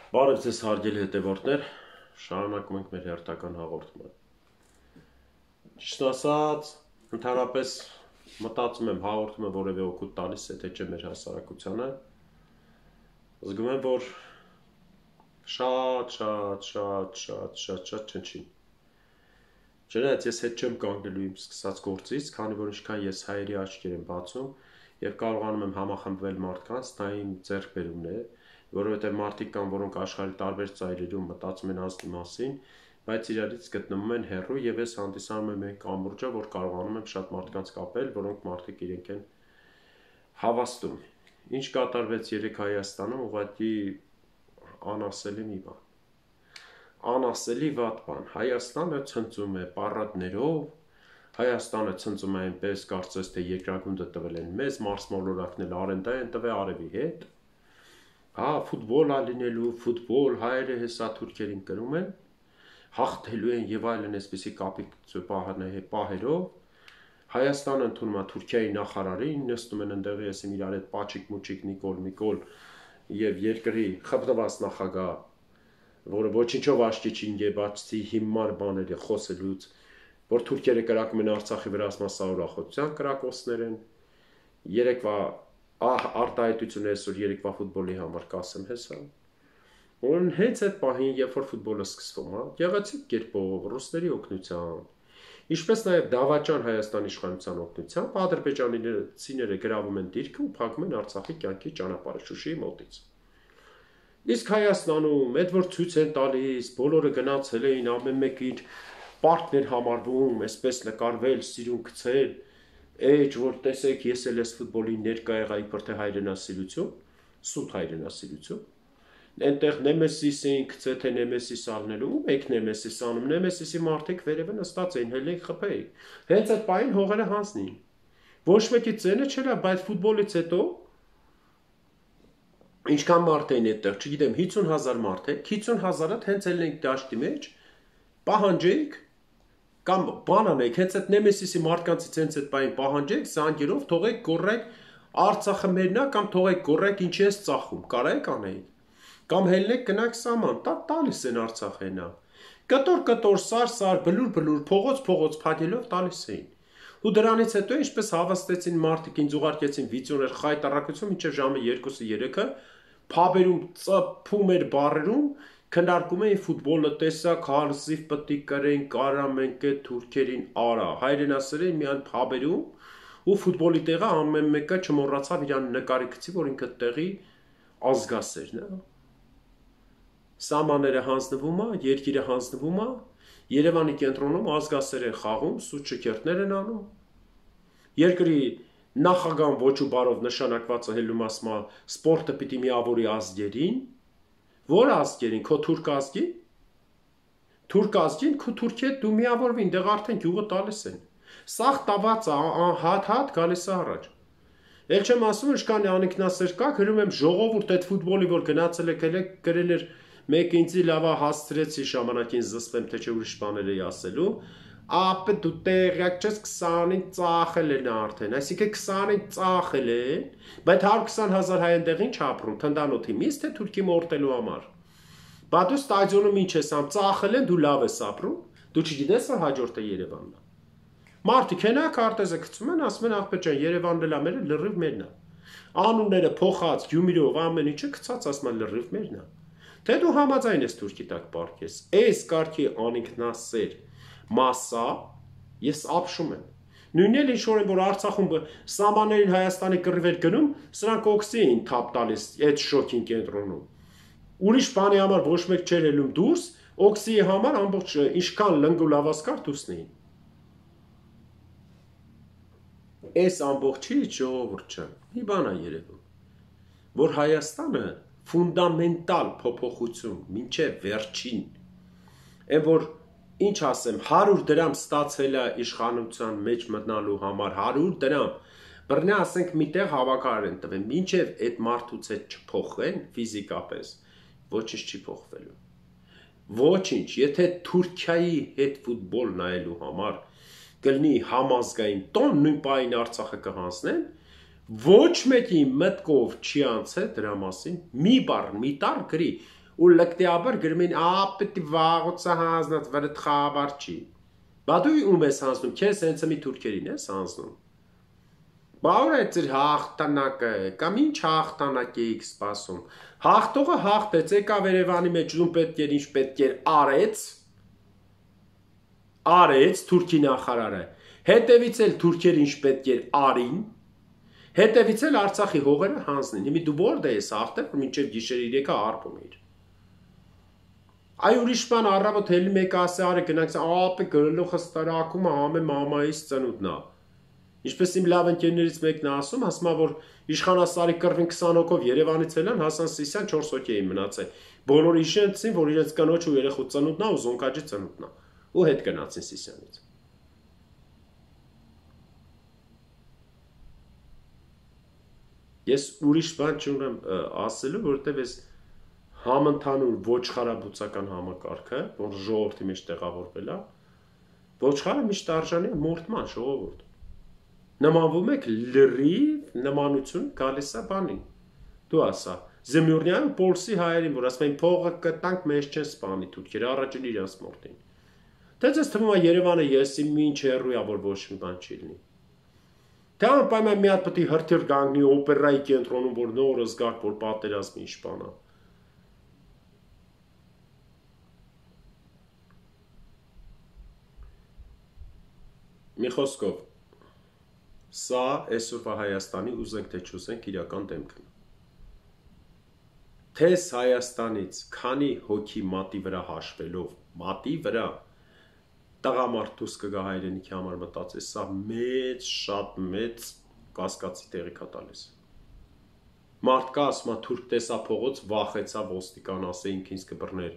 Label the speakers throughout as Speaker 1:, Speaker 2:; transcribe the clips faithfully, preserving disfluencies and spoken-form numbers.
Speaker 1: Բարև ձեզ հարգելի հետևորդներ, շարունակում ենք մեր հերթական հաղորդումը։ Ճիշտ ասած, ընդհանրապես մտածում եմ հաղորդումը որևէ օգուտ տալիս է, թե չէ մեր հասարակությանը։ Զգում եմ, որ շատ, շատ, շատ, շատ, շատ, շատ չնչին։ Չնայած ես հետ չեմ կանգնելու իմ սկսած գործից, քանի որ ինչքան ես հայերի աչքեր եմ բացում եւ կարողանում եմ համախմբվել մարդկանց, դա իմ ձեռքբերումն է, որովհետև մարդիկ կան, որոնք աշխարհի տարբեր ծայրերում մտածում են ազգի մասին, բայց իրարից գտնվում են հեռու եւ ես հանդիսանում եմ այն կամուրջը, որ կարողանում եմ շատ մարդկանց կապել, որոնք մարդիկ իրենք են հավաստում։ Ինչ կատարվեց երեք Հայաստանում, ուղղակի անասելի մի բան։ Անասելի վատ բան։ Հայաստանը ցնծում է պարադներով, Հայաստանը ցնծում է այնպես, կարծես թե երկրագունդը տվել են մեզ, մարսմոլորակն էլ արենդա են տվել արևի հետ։ Հա, ֆուտբոլ ա լինելու, ֆուտբոլ, հայերը հեսա թուրքերին կրում են, հաղթելու են եւ այլն այսպիսի կապիկ պահերով։ Հայաստանը ընդունում է Թուրքիայի նախարարին, նստում են ընդեղի ասեմ իրար հետ պաչիկ մուչիկ Նիկոլ Միկոլ եւ երկրի խփնված նախագահ, որը ոչինչով աչքի չի ընկել հիմար բաների խոսելուց, որ թուրքերը կրակում են Արցախի վրա մասսաուրախության կրակոցներ են։ Երեկվա Ահ, արտահայտությունը այսօր երեկվա ֆուտբոլի համար կասեմ հեսա։ Ուրեմն հենց այդ պահին, երբ որ ֆուտբոլը սկսվում է, գեղեցիկ կերպով ռուսների օգնությամբ, ինչպես նաև դավաճան Հայաստանի իշխանության օգնությամբ, ադրբեջանցիները գրավում են դիրքը ու փակում են Արցախի կյանքի ճանապարհը Շուշիի մոտից։ Իսկ Հայաստանում, այդ որ ցույց են տալիս, բոլորը գնացել էին, ամեն մեկը իր պարտներ համարվում, այսպես նկարվել, սիրուն գցել, Էջ, որ տեսեք, ես էլ ես ֆուտբոլի ներկա եղա իբր թե հայրենասիրություն, սուտ հայրենասիրություն, այնտեղ Նեմեսիս էին գցել, թե Նեմեսիս ալնելու, ում եք Նեմեսիս անում, Նեմեսիսի մարդիկ վերևը նստած էին, հելեք խփեիք, հենց այդ պահին հողերը հանձնին, ոչ մեկի ծենը չէր, բայց ֆուտբոլից հետո, ինչքան մարդ էին այդտեղ, չգիտեմ, հիսուն հազար մարդ է, հիսուն հազարը հենց էլ ենք դաշտի մեջ, պահանջեիք, կամ բան անեք, հենց այդ Նեմեսիսի մարդկանցից հենց այդ պահին պահանջեք, զանգերով թողեք գոռեք Արցախը մերն է կամ թողեք գոռեք ինչի ես ծախում, կարեք անեիք։ Կամ հելնեք գնաք սաման, տա տալիս են Արցախենա։ Կտոր կտոր սար սար բլուր բլուր փողոց փողոց փակելով տալիս էին։ Ու դրանից հետո ինչպես հավաստեցին մարդիկ ինձ ուղարկեցին վիդեոներ խայտարակություն մինչև ժամը երկուսը երեքը, փաբերում ծփում էր բարերում քննարկում էին ֆուտբոլը տեսակ հարսիվ պետք է կրեն կարամ ենք այդ թուրքերին արա հայրենասերեն միան փաբերում ու ֆուտբոլի տեղը ամեն մեկը չմոռացավ իրան նկարի գցի որ ինքը տեղի ազգասերն է սամաները հանձնվում է երկիրը հանձնվում է Երևանի կենտրոնում ազգասեր են խաղում սուտ շքերթներ են անում երկրի նախագահ ոչ ու բարով նշանակվածը հելում ասма սպորտը պիտի միավորի ազգերին Որ ազգերին, քո թուրք ազգի, թուրք ազգին, քո թուրքի հետ դու միավորվին, դեղ արդեն գյուղը տալիս են, սաղ տված հատ-հատ գալիս է առաջ, էլ չեմ ասում, ինչքան անիքնասեր կա, գրում եմ ժողովուրդ այդ ֆուտբոլի, որ գնացել եք, գրել էր մեկ ինձի լավա հասցրեցի ժամանակին զսպեմ, թե չէ ուրիշ բաներ էի ասելու, ապը դու տեղյակ չես քսանին ծախել են արդեն, այսինքն քսանին ծախել են, բայց հարյուր քսան հազար հայ այնտեղ ինչ ապրում, թնդանոթի միս թե թուրքի մորտելու համար։ Բա դու ստադիոնում ինչ ես ամ, ծախել են, դու լավ ես ապրում, դու չգիտես որ հաջորդը Երևանն է։ Մարդիկ հենա քարտեզը գցում են, ասում են աղբե ջան, Երևանն էլ է մերը լրիվ մերն է։ Անունները փոխած, Գյումրիով ամեն ինչը գցած ասում են լրիվ մերն է։ Թե դու համաձայն ես թուրքի տակ պարկես, այս կարգի անինքնասեր Մասա, ես ապշում եմ։ Նույնն էլ ինչ-որ են, որ Արցախում սամաններին Հայաստանի կռիվ էր գնում, սրանք օքսի էին թափ տալիս այդ շոքին կենտրոնում։ Ուրիշ բանի համար ոչ մեկ չէր ելում դուրս, օքսիի համար ամբողջ ինչքան լնգու լավասկար դուսնեին։ Այս ամբողջի ժողովուրդ ջան, մի բան է երևում, որ Հայաստանը ֆունդամենտալ փոփոխություն, մինչև վերջին, այն որ Ինչ ասեմ, հարյուր դրամ ստացել է իշխանության մեջ մտնալու համար, հարյուր դրամ, բռնե ասենք միտեղ հավաքարար են տվել, մինչև այդ մարդուց հետ չփոխվեն ֆիզիկապես, ոչինչ չի փոխվելու։ Ոչինչ, եթե Թուրքիայի հետ ֆուտբոլ նայելու համար կլինի համազգային տոն նույն պահին Արցախը կհանձնեն, ոչ մեկի մտքով չի անցել դրա մասին, մի բառ, մի տառ գրի, ու լկտիաբար գրում էին ապետի վաղոցա հանձնած վրդ խաբար չի։ Բա դու ում ես հանձնում, քեզ հենց մի թուրքերին ես հանձնում։ Բա ուր է ձեր հաղթանակը, կամ ինչ հաղթանակ էիք սպասում։ Հաղթողը հաղթեց, եկավ Երևանի մեջ ում պետք էր, ինչ պետք էր արեց, արեց Թուրքի նախարարը, հետևից էլ թուրքեր ինչ պետք էր արին, հետևից էլ Արցախի հողերը հանձնին։ Հիմի դու որտե ես հաղթել, որ մինչև գիշեր երեքը արվում էր։ Այ ուրիշ բան առավոտ հելի մեկը ասի արի գնանք, ապե գրելուխը ստարակումը համե մամայից ծնունդն է։ Ինչպես իմ լավ ընկերներից մեկն է ասում, ասում է, որ իշխանասարի կռվին քսան հոգով Երևանից ելան, Հասան Սիսյան չորս հոգի էին մնացել։ Բոլորը իշեցին, որ իրենց կնոջ ու երեխու ծնունդն է ու զոնկաջի ծնունդն է։ Ու հետ գնացին Սիսյանից։ Ես ուրիշ բան չունեմ ասելու, որովհետև ես համընդհանուր ոչխարաբուծական համակարգը, որ ժողովրդի մեջ տեղավորվել է, ոչխարը միշտ արժանի է մորթման ժողովուրդ։ Նմանվում եք լրիվ նմանություն գալիս է բանին։ Դու ասա, Զեմյուրնյան ու Պոլսի հայերին, որ ասում են փողը կտանք, մեզ չեն սպանի թուրքերը, առաջին իրանց մորթին։ Թե ձեզ թվում է Երևանը եսի ինչ հեռու է, որ ոչ մի բան չի լինի։ Թե անպայման մի հատ պետք է հրթիռ գանգնի օպերայի կենտրոնում, որ նորը զգաք, որ պատերազմի իշխանա։ Մի խոսքով, սա այսօրվա Հայաստանի ուզենք թե չուզենք իրական դեմքն է։ Թես Հայաստանից քանի հոգի մատի վրա հաշվելով, մատի վրա տղամարդ դուրս կգա հայրենիքի համար մտածես, սա մեծ, շատ մեծ կասկածի տեղիք է տալիս։ Մարդ կա ասում է թուրք տեսա փողոց վախեցա ոստիկան ասեինք ինձ կբռներ։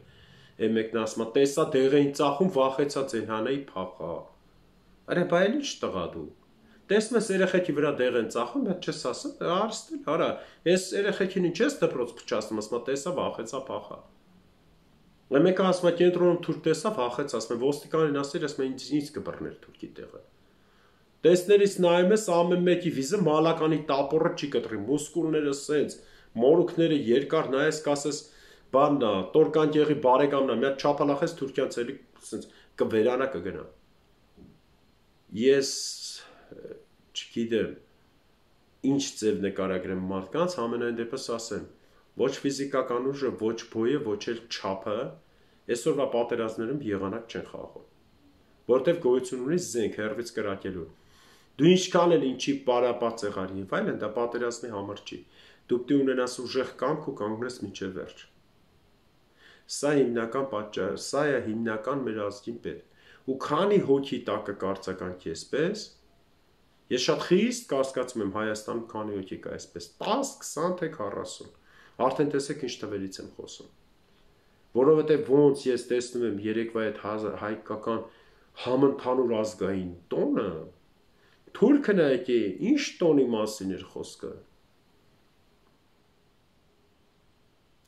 Speaker 1: Է մեկն ասում է տեսա դեղ էին ծախում վախեցա ձեն հանեի փախա։ Արա բայ ինչ տղա դու։ Տեսնում ես երեխեքի վրա դեղ են ծախում, բայց չես ասում, արստել, արա, այս երեխեքին ինչ ես դպրոց փչացնում, ասում է տեսա վախեցա փախա։ Մեկը ասում է կենտրոնում թուրք տեսա վախեց, ասում է ոստիկանին ասել, ասում է ինձ ինձ կբռներ թուրքի տեղը։ Տեսներից նայում ես ամեն մեկի վիզը մալականի տապորը չի կտրի, մուսկուլները սենց, մորուքները երկար նայես կասես, բաննա, տորկանկեղի բարեկամնա, մի հատ չափալախես թուրքյան ցելի սենց կվերանա կգնա։ Ես չգիտեմ ինչ ձև նկարագրեմ մարդկանց, ամենայն դեպս ասեմ, ոչ ֆիզիկական ուժը, ոչ բոյը, ոչ էլ չափը այսօրվա պատերազմներում եղանակ չեն խաղում, որտեվ գոյություն ունի զենք հերվից կրակելու։ Դու ինչքան էլ ինչի պարապած եղար եւ այլն, դա պատերազմի համար չի։ Դու պետք է ունենաս ուժեղ կամք ու կանգնես մինչև վերջ։ Սա հիմնական պատճառը, սա է հիմնական մեր ազգին պետք։ Ու քանի հոգի տակը կարծականքի էսպես, ես շատ խիստ կասկածում եմ Հայաստանում քանի հոգի կա էսպես, տաս, քսան թե քառասուն։ Արդեն տեսեք ինչ թվերից եմ խոսում։ Որովհետև ոնց ես տեսնում եմ երեկվա այդ հայկական համընդհանուր ազգային տոնը, թուրքը նայեք, ինչ տոնի մասին էր խոսքը։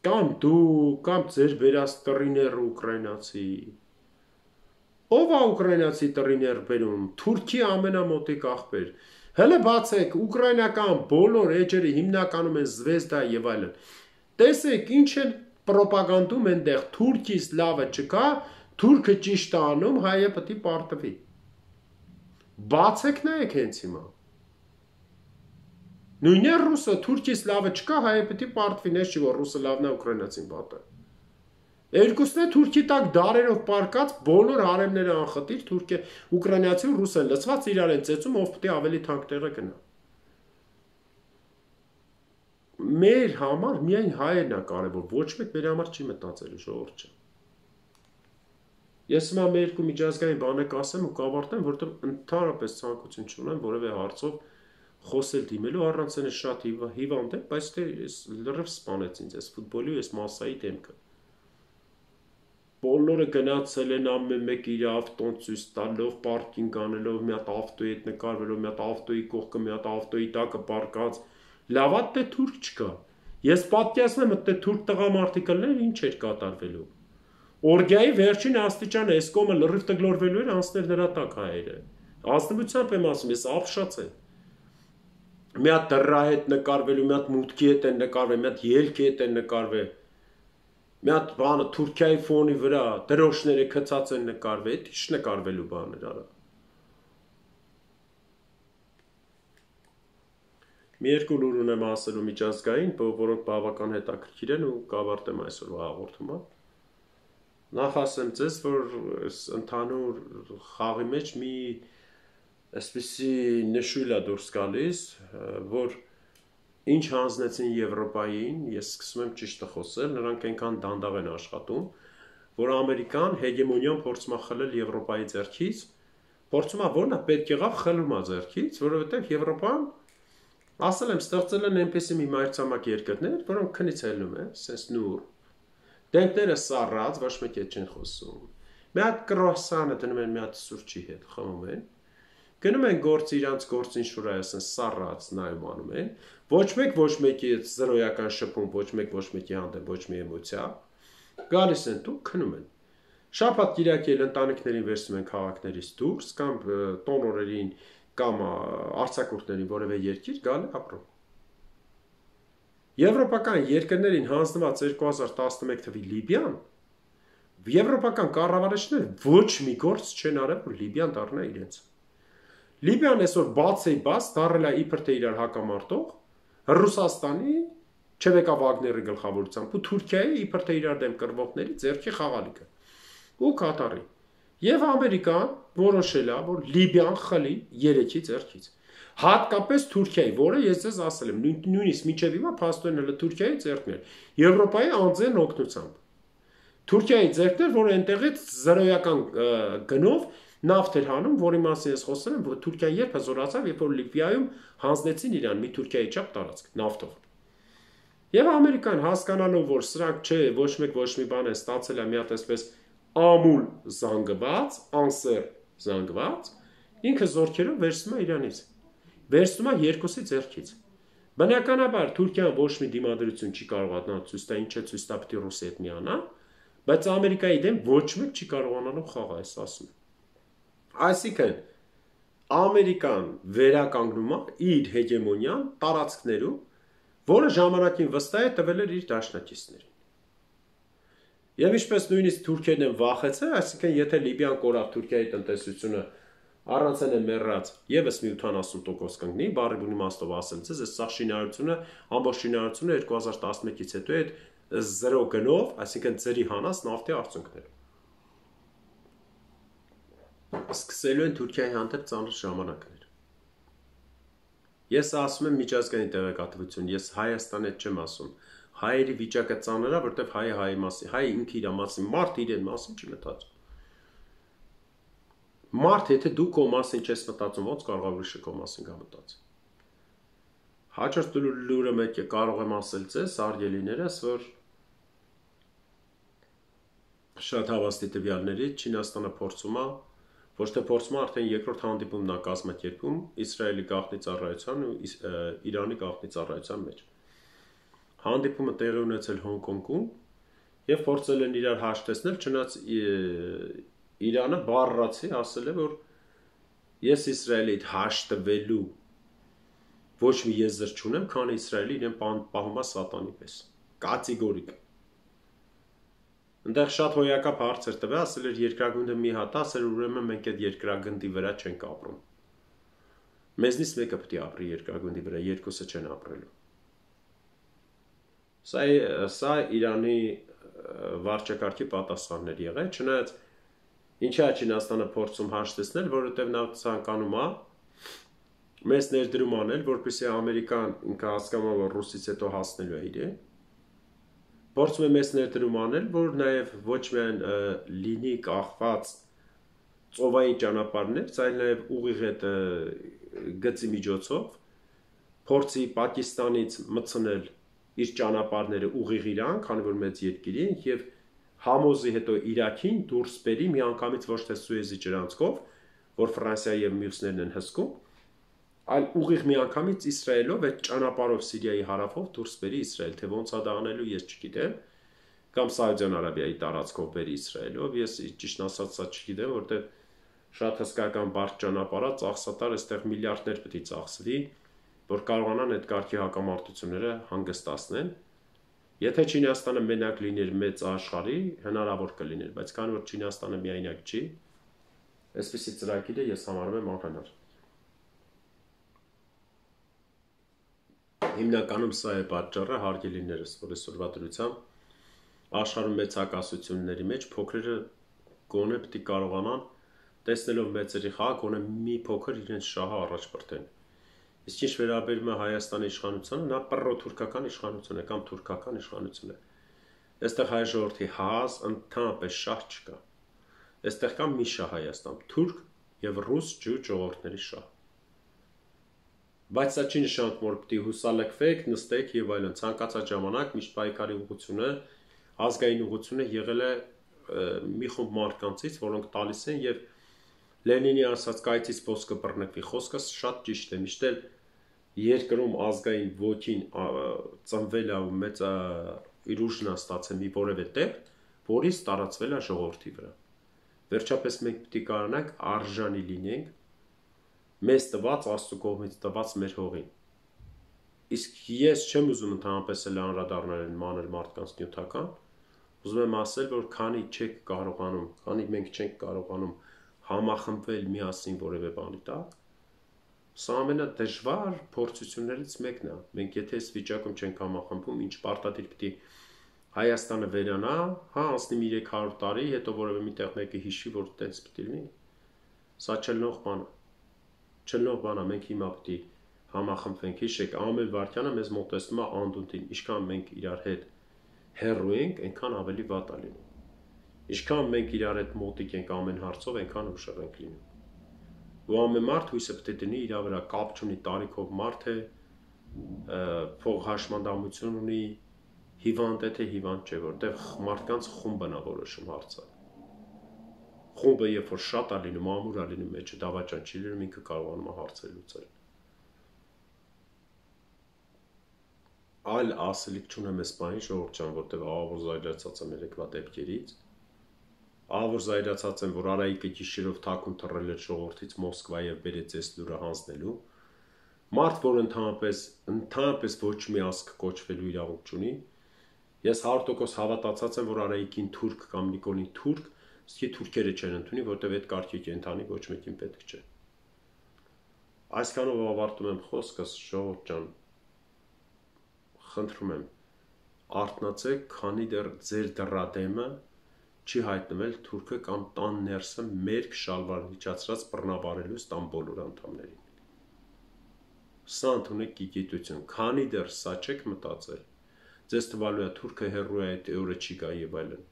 Speaker 1: Կամ դու, կամ ձեր վերած տրիները ուկրաինացի։ Ով է ուկրաինացի տրիներ բերում, Թուրքի ամենամոտիկ աղբեր։ Հələ բացեք, ուկրաինական բոլոր էջերը հիմնականում են Զվեզդա եւ այլն։ Տեսեք, ինչ են պրոպագանդում այնտեղ, Թուրքից լավը չկա, թուրքը ճիշտ է անում, հայը պետք է պարտվի։ Բացեք նայեք հենց հիմա։ Նույնը ռուսը, Թուրքից լավը չկա, հայը պետք է պարտվի, նես չի որ ռուսը լավն է, ուկրաինացին վատը։ Երկուսն է Թուրքի տակ դարերով պարկած բոլոր հարեմները անխտիր, թուրքը, ուկրաինացի ու ռուսը լցված իրար են ծեծում, ով պետք է ավելի թանկ տեղը գնա։ Մեր համար միայն հայերն է կարևոր, ոչ մեկ մեր համար չի մտածելու ժողովուրդ չէ։ Ես հիմա մեր երկու միջազգային բանը կասեմ ու կավարտեմ, որովհետև ընդհանրապես ցանկություն չունեմ որևէ հարցով խոսել դիմելու, առանց այն շատ հիվանդ եմ, բայց դե լրիվ սպանեց ինձ այս ֆուտբոլի ու այս մասայի դեմքը։ Բոլորը գնացել են ամեն մեկ իր ավտոն ցույց տալով, պարկինգ անելով, մի հատ ավտոյի հետ նկարվելով, մի հատ ավտոյի կողքը, մի հատ ավտոյի տակը պարկած։ Լավ է դե թուրք չկա։ Ես պատկերացնում եմ, դե թուրք տղամարդիկ ելներ ինչ էր կատարվելու։ Օրգիայի վերջին աստիճանը այս կողմը լրիվ տգլորվելու էր անցնել նրա տակ հայերը։ Ազնվությամբ եմ ասում, ես ապշած եմ։ Մի հատ դրա հետ նկարվելու, մի հատ մուտքի հետ են նկարվել, մի հատ ելքի հետ են նկարվել։ մի հատ բանը Թուրքիայի ֆոնի վրա դրոշները գծած են նկարվել, ի՞նչ նկարվելու բաներ արա։ Մի երկու լուր ունեմ ասելու միջազգային, որոնք բավական հետաքրքիր են ու կավարտեմ այսօրվա հաղորդումը։ Նախ ասեմ ձեզ, որ ընդհանուր խաղի մեջ մի այսպիսի նշույլ է դուրս գալիս, որ ինչ հանձնեցին Եվրոպային, ես սկսում եմ ճիշտը խոսել, նրանք այնքան դանդաղ են աշխատում, որ Ամերիկան հեգեմոնիան փորձում է խլել Եվրոպայի ձեռքից, փորձում է որն է պետք եղավ խլում է ձեռքից, որովհետև Եվրոպան ասել եմ, ստեղծել են այնպեսի մի մայրցամաք երկրներ, որոնք քնից ելնում են, սենց նուր։ Դեմքները սառած, ոչ մեկ հետ չեն խոսում։ Մի հատ կրուասանը դնում են մի հատ սուրճի հետ, խմում են։ Գնում են գործ իրանց գործ ինչ-որ այ ասեն սառած նայում անում են։ Ոչ մեկ ոչ մեկի զրոյական շփում, ոչ մեկ ոչ մեկի հանդեպ ոչ մի էմոցիա։ Գալիս են դու քնում են։ Շաբաթ կիրակի էլ ընտանիքներին վերցնում են քաղաքներից դուրս կամ տոն օրերին կամ արձակուրդներին որևէ երկիր գալ ապրում։ Եվրոպական երկրներին հանձնված երկու հազար տասնմեկ թվականի Լիբիան, եվրոպական կառավարիչները ոչ մի գործ չեն արել, որ Լիբիան դառնա իրենց։ Լիբիան այսօր բաց է բաց դառել է իբր թե իրար հակամարտող Ռուսաստանի Չևեկա Վագների գլխավորությամբ ու Թուրքիայի իբր թե իրար դեմ կռվողների ձեռքի խաղալիքը ու Կատարի։ Եվ Ամերիկան որոշել է, որ Լիբիան խլի երեքի ձեռքից։ Հատկապես Թուրքիայի, որը ես ձեզ ասել եմ, նույնիսկ մինչև հիմա փաստորեն հələ Թուրքիայի ձեռքն էր, Եվրոպայի անձեն օգնությամբ։ Թուրքիայի ձեռքն էր, որը այնտեղից զրոյական գնով նավթ էր հանում, որի մասին ես խոսել եմ, որ Թուրքիան երբ հզորացավ, երբ որ Լիբիայում հանձնեցին իրան մի Թուրքիայի չափ տարածք նավթով։ Եվ Ամերիկան հասկանալով, որ սրանք չէ, ոչ մեկ ոչ մի բան է ստացել է մի հատ այսպես ամուլ զանգված, անսեր զանգված, ինքը զորքերով վերցնում է իրանից, վերցնում է երկուսի ձեռքից։ Բնականաբար Թուրքիան ոչ մի դիմադրություն չի կարողանա ցույց տա, ինչ է ցույց տա պիտի Ռուսի հետ միանա, բայց Ամերիկայի դեմ ոչ մեկ չի կարողանալու խաղալ, այս ասում։ Այսինքն Ամերիկան վերականգնում է իր հեգեմոնիան տարածքներում, որը ժամանակին վստահ է տվել էր իր դաշնակիցներին։ Եվ ինչպես նույնիսկ Թուրքիան են վախեցել, այսինքն եթե Լիբիան կորավ Թուրքիայի տնտեսությունը առանցեն է մեռած եւս մի ութանասուն տոկոս կընկնի, բարի բունի իմաստով ասել ցես, այս սաղ շինարարությունը, ամբողջ շինարարությունը երկու հազար տասնմեկից հետո այդ զրո գնով, այսինքն ծերի հանած նավթի արդյունքներ։ Սկսելու են Թուրքիայի հանդեպ ծանր ժամանակներ։ Ես ասում եմ միջազգային տեղեկատվություն, ես Հայաստանի հետ չեմ ասում։ Հայերի վիճակը ծանր է, որտեղ հայը հայի մասին, հայը ինքը իր մասին, մարդ իրեն մասին չի մտածում։ Մարդ, եթե դու քո մասին չես մտածում, ոնց կարող է ուրիշը քո մասին գա մտածի։ Հաջորդ լուրը մեկ է կարող եմ ասել ձեզ, արգելիներս, որ շատ հավաստի տվյալների Չինաստանը փորձում է, ոչ թե փորձում է, արդեն երկրորդ հանդիպումն է կազմակերպում Իսրայելի գաղտնի ծառայության ու Իրանի գաղտնի ծառայության մեջ։ Հանդիպումը տեղի ունեցել Հոնկոնգում եւ փորձել են իրար հաշտեցնել, չնայած Իրանը բառացի ասել է, որ ես Իսրայելի հետ հաշտվելու ոչ մի եզր չունեմ, քանի Իսրայելը իրեն պահում է սատանի պես։ Կատեգորիկ։ Այնտեղ շատ հոյակապ հարց էր տվել, ասել էր երկրագնդը մի հատ, ասել ուրեմն մենք այդ երկրագնդի վրա չենք ապրում։ Մեզնից մեկը պետք է ապրի երկրագնդի վրա, երկուսը չեն ապրելու։ Սա սա Իրանի վարչակարգի պատասխաններ եղել, չնայած ինչա Չինաստանը փորձում հաշտեցնել, որովհետև նա ցանկանում է մեզ ներդրում անել, որպեսզի Ամերիկան ինքը հասկանում է, որ Ռուսից հետո հասնելու է իրեն։ Փորձում է մեզ ներդրում անել, որ նաև ոչ միայն լինի կախված ծովային ճանապարհներ, այլ նաև ուղիղ այդ գծի միջոցով փորձի Պակիստանից մտցնել իր ճանապարհները ուղիղ Իրան, քանի որ մեծ երկիր է, եւ համոզի հետո Իրաքին դուրս բերի միանգամից ոչ թե Սուեզի ջրանցքով, որ Ֆրանսիայի եւ մյուսներն են հսկում, այլ ուղիղ միանգամից Իսրայելով այդ ճանապարհով Սիրիայի հարավով դուրս բերի Իսրայել, թե ոնց է դա անելու ես չգիտեմ, կամ Սաուդյան Արաբիայի տարածքով բերի Իսրայելով, ես ճիշտ ասած սա չգիտեմ, որտեղ շատ հսկական բարդ ճանապարհ է, ծախսատար այստեղ միլիարդներ պետք է ծախսվի, որ կարողանան այդ կարգի հակամարտությունները հանգստացնեն։ Եթե Չինաստանը մենակ լիներ մեծ աշխարհի, հնարավոր կլիներ, բայց քանի որ Չինաստանը միայնակ չի, այսպիսի ծրագիրը ես համարում եմ անհնար։ Հիմնականում սա է պատճառը, հարգելիներս, որ այսօրվա դրությամբ աշխարհում մեծ հակասությունների մեջ փոքրերը գոնե պետք է կարողանան տեսնելով մեծերի խաղ, գոնե մի փոքր իրենց շահը առաջ բրդեն։ Իսկ ինչ վերաբերում է Հայաստանի իշխանությանը, նա պռոթուրքական իշխանություն է կամ թուրքական իշխանություն է։ Այստեղ հայ ժողովրդի հազ ընդհանրապես շահ չկա։ Այստեղ կա մի շահ Հայաստան, թուրք եւ ռուս ջու ժողովուրդների շահ։ Բայց սա չի նշանակում, որ պետք է հուսալքվեք, նստեք եւ այլն։ Ցանկացած ժամանակ միշտ պայքարի ուղղությունը, ազգային ուղղությունը եղել է մի խումբ մարդկանցից, որոնք տալիս են եւ Լենինի ասած կայծից ոսկը բռնկվի խոսքը շատ ճիշտ է, միշտ էլ երկրում ազգային ոգին ծնվել է ու մեծ իր ուժն է ստացել մի որևէ տեղ, որից տարածվել է ժողովրդի վրա։ Վերջապես մենք պետք է կարողանանք արժանի լինենք մեզ տված Աստծո կողմից տված մեր հողին։ Իսկ ես չեմ ուզում ընդհանրապես էլ անդրադառնալ մանր մարդկանց նյութական, ուզում եմ ասել, որ քանի չեք կարողանում, քանի մենք չենք կարողանում համախմբվել միասին որևէ բանի տակ, սա ամենադժվար փորձություններից մեկն է։ Մենք եթե այս վիճակում չենք համախմբում, ինչ պարտադիր պետք է Հայաստանը վերանա, հա, անցնի մի երեք հարյուր տարի, հետո որևէ միտեղ մեկը հիշի, որ տենց պետք է լինի։ Սա չլնող բան է։ Չլնող բան է, մենք հիմա պետք է համախմբվենք, հիշեք, ամեն վարքյանը մեզ մոտեցնում է անդունդին, ինչքան մենք իրար հետ հեռու ենք, այնքան ավելի վատ է լինում։ Ինչքան մենք իրար հետ մոտիկ ենք ամեն հարցով, այնքան ուշեղ ենք լինում։ Ու ամեն մարդ հույսը պետք է դնի իր վրա, կապ չունի տարիքով մարդ է, փող հաշմանդամություն ունի, հիվանդ է թե հիվանդ չէ, որտեղ մարդկանց խումբն է որոշում հարցը։ Խումբը երբ որ շատ է լինում, ամուր է լինում, մեջը դավաճան չի լինում, ինքը կարողանում է հարցեր լուծել։ Այլ ասելիք չունեմ այս բանի ժողովուրդ ջան, որտեղ ահավոր զայրացած եմ երեկվա դեպքերից։ Ահավոր զայրացած եմ, որ Արայիկը գիշերով թաքուն թռել էր ժողովրդից Մոսկվա եւ բերեց այս լուրը հանձնելու։ Մարդ, որ ընդհանրապես ընդհանրապես ոչ մի ազգ կոչվելու իրավունք չունի։ Ես հարյուր տոկոս հավատացած եմ, որ Արայիկին թուրք կամ Նիկոլին թուրք, իսկ թուրքերը չեն ընդունի, որտեղ այդ կարգի կենթանի ոչ մեկին պետք չէ։ Այսքանով ավարտում եմ խոսքս, ժողովուրդ ջան։ Խնդրում եմ, արթնացեք, քանի դեռ ձեր դռադեմը չի հայտնվել թուրքը կամ տան ներսը մերկ շալվար միջացրած բռնաբարելուց տան բոլոր անդամներին։ Սա ընդունեք գիտություն, քանի դեռ սա չեք մտածել, ձեզ թվալու է թուրքը հեռու է, այդ օրը չի գա եւ այլն։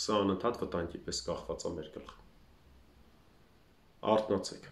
Speaker 1: Սա անընդհատ վտանգի պես կախված է մեր գլխում։ Արթնացեք։